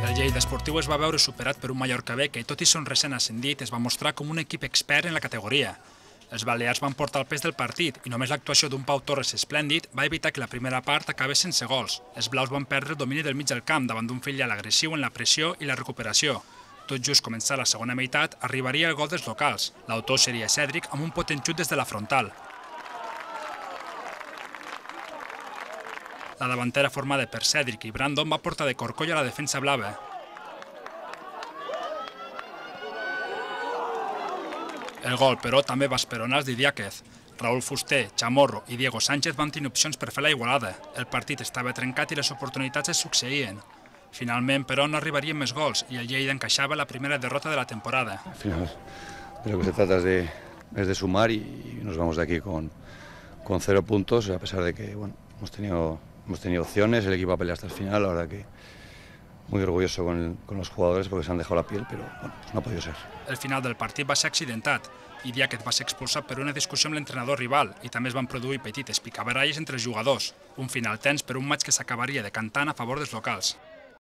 El Lleida Esportiu es va veure superat per un Mallorca B que, tot i ser un recent ascendit, es va mostrar com un equip expert en la categoria. Els balears van portar el pes del partit i només l'actuació d'un Pau Torres esplèndid va evitar que la primera part acabés sense gols. Els blaus van perdre el domini del mig del camp davant d'un filial agressiu en la pressió i la recuperació. Tot just començar la segona meitat, arribaria el gol dels locals. L'autor seria Cèdric amb un potent xut des de la frontal. La davantera formada per Cèdric i Brandon va portar de corcoll a la defensa blava. El gol, però, també va esperonar els d'Idiáquez. Raúl Fuster, Chamorro i Diego Sánchez van tenir opcions per fer la igualada. El partit estava trencat i les oportunitats es succeïen. Finalment, però, no arribarien més gols i el Lleida encaixava la primera derrota de la temporada. Al final, de lo que se trata es de sumar y nos vamos de aquí con 0 puntos, a pesar de que bueno, hemos tenido opciones, el equipo ha peleado hasta el final, la verdad que muy orgulloso con los jugadores porque se han dejado la piel, pero bueno, no ha podido ser. El final del partit va ser accidentat. Idiáquez va ser expulsat per una discussió amb l'entrenador rival i també es van produir petites picabaralles entre els jugadors. Un final tens per un maig que s'acabaria decantant a favor dels locals.